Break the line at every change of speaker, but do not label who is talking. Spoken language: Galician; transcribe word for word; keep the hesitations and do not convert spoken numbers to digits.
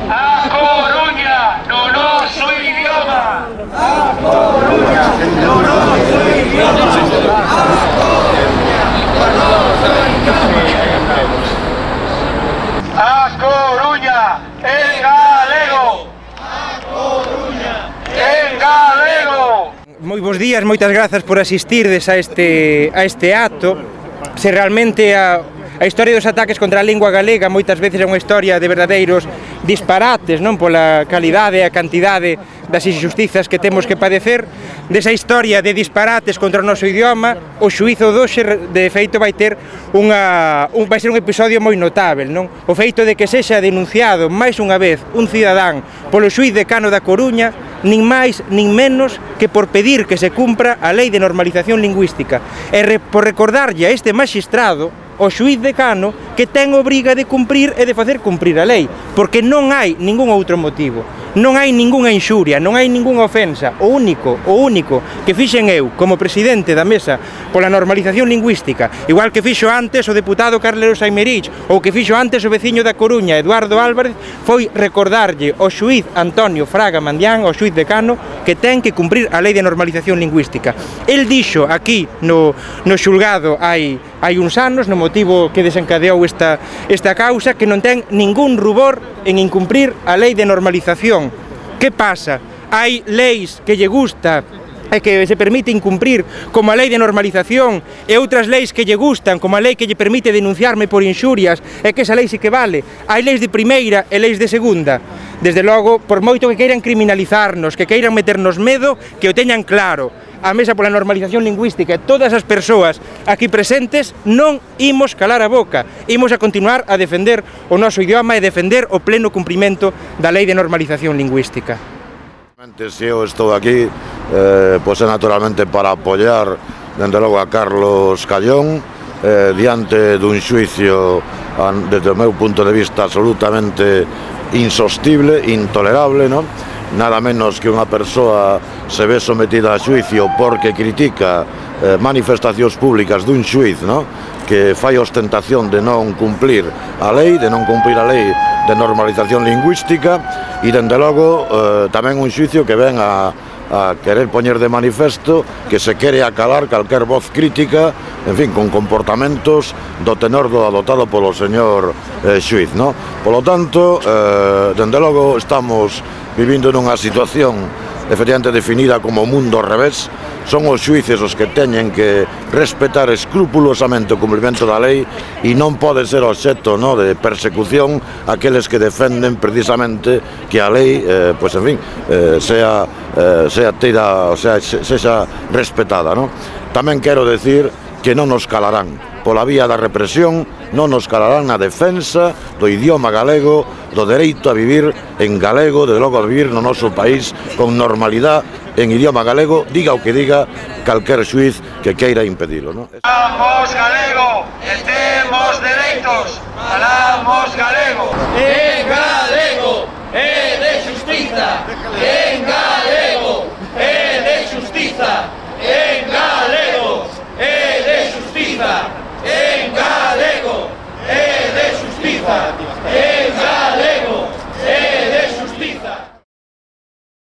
A Coruña, no noso idioma. A Coruña, no noso idioma. A Coruña, no noso idioma. A Coruña, en galego. A Coruña, en galego.
Moi bons días, moitas grazas por asistirdes a este, a este acto. Se realmente a, a historia dos ataques contra a lingua galega moitas veces é unha historia de verdadeiros disparates, non? Pola calidade e a cantidade das injustizas que temos que padecer, desa historia de disparates contra o noso idioma, o xuízo doxe de feito vai ter unha, un, vai ser un episodio moi notável, non? O feito de que sexa denunciado máis unha vez un cidadán polo xuíz decano da Coruña, nin máis nin menos que por pedir que se cumpra a Lei de Normalización Lingüística e re, por recordarlle a este maxistrado, o xuíz decano, que ten obriga de cumprir e de facer cumprir a lei, porque non hai ningún outro motivo, non hai ningunha inxuria, non hai ningunha ofensa. O único, o único que fixen eu como presidente da Mesa pola Normalización Lingüística, igual que fixo antes o deputado Carlos Aymerich ou que fixo antes o veciño da Coruña, Eduardo Álvarez, foi recordarlle ao xuíz Antonio Fraga Mandián, ao xuíz decano, que ten que cumprir a Lei de Normalización Lingüística. El dixo aquí no, no xulgado hai, hai uns anos, no motivo que desencadeou esta, esta causa, que non ten ningún rubor en incumprir a Lei de Normalización. Que pasa? Hai leis que lle gusta e que se permite incumprir, como a Lei de Normalización, e outras leis que lle gustan, como a lei que lle permite denunciarme por inxurias, e que esa lei sí que vale. Hai leis de primeira e leis de segunda. Desde logo, por moito que queiran criminalizarnos, que queiran meternos medo, que o teñan claro. A Mesa pola Normalización Lingüística e todas as persoas aquí presentes non imos calar a boca, imos a continuar a defender o noso idioma e defender o pleno cumprimento da Lei de Normalización Lingüística.
Se eu estou aquí, eh, pois é naturalmente para apoiar, dende logo, a Carlos Callón, eh, diante dun xuicio, desde o meu punto de vista, absolutamente insostible, intolerable, non? Nada menos que unha persoa se ve sometida a xuicio porque critica eh, manifestacións públicas dun xuiz, no? Que fai ostentación de non cumplir a lei, de non cumplir a lei de normalización lingüística e, dende logo, eh, tamén un xuicio que ven a, a querer poñer de manifesto que se quere acalar calquer voz crítica, en fin, con comportamentos do tenor do adoptado polo señor eh, xuiz, no? Polo tanto, eh, dende logo, estamos vivindo nunha situación efectivamente definida como mundo ao revés. Son os xuíces os que teñen que respetar escrupulosamente o cumprimento da lei e non pode ser obxecto, no, de persecución aqueles que defenden precisamente que a lei, eh, pois, en fin, eh, sea, eh, sea tira, o sea, sexa respetada, no? Tamén quero decir que non nos calarán pola vía da represión, non nos calarán na defensa do idioma galego, do dereito a vivir en galego, de logo a vivir no noso país con normalidade en idioma galego, diga o que diga calquer xuiz que queira impedilo, non?
Falamos galego e temos dereitos. Falamos galego. En galego e de xustiza. En galego.